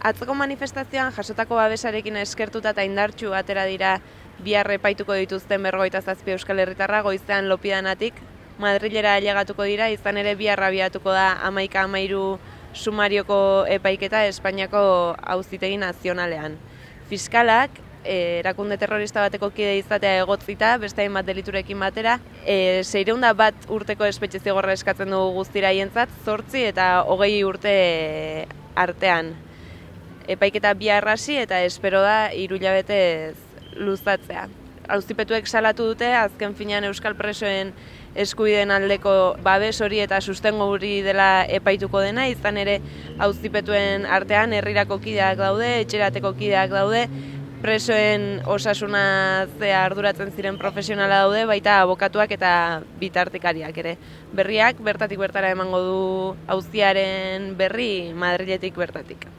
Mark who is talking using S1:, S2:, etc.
S1: Atzoko manifestazioan jasotako babesarekin eskertuta eta indartsu atera dira bihar epaituko dituzten 57 euskal herritarra goizean Lopidanatik Madrilera ailegatuko dira, izan ere bihar abiatuko da 11-13 sumarioko epaiketa Espainiako Auzitegi Nazionalean. Fiskalak erakunde terrorista bateko kide izatea egotzita, beste hainbat deliturekin batera, 601 urteko espetxe zigorra eskatzen dugu guztira haientzat, 8 eta 20 urte artean. Epaiketa bihar hasi eta espero da 3 hilabetez luzatzea. Auzipetuek salatu dute, azken finean euskal presoen eskubideen aldeko babes hori eta sustengo hori dela epaituko dena, izan ere auzipetuen artean herrirako kideak daude, etxerateko kideak daude, presoen osasunaz arduratzen ziren profesionala daude, baita abokatuak eta bitartekariak ere. Berriak bertatik bertara emango du auziaren berri Madriletik bertatik.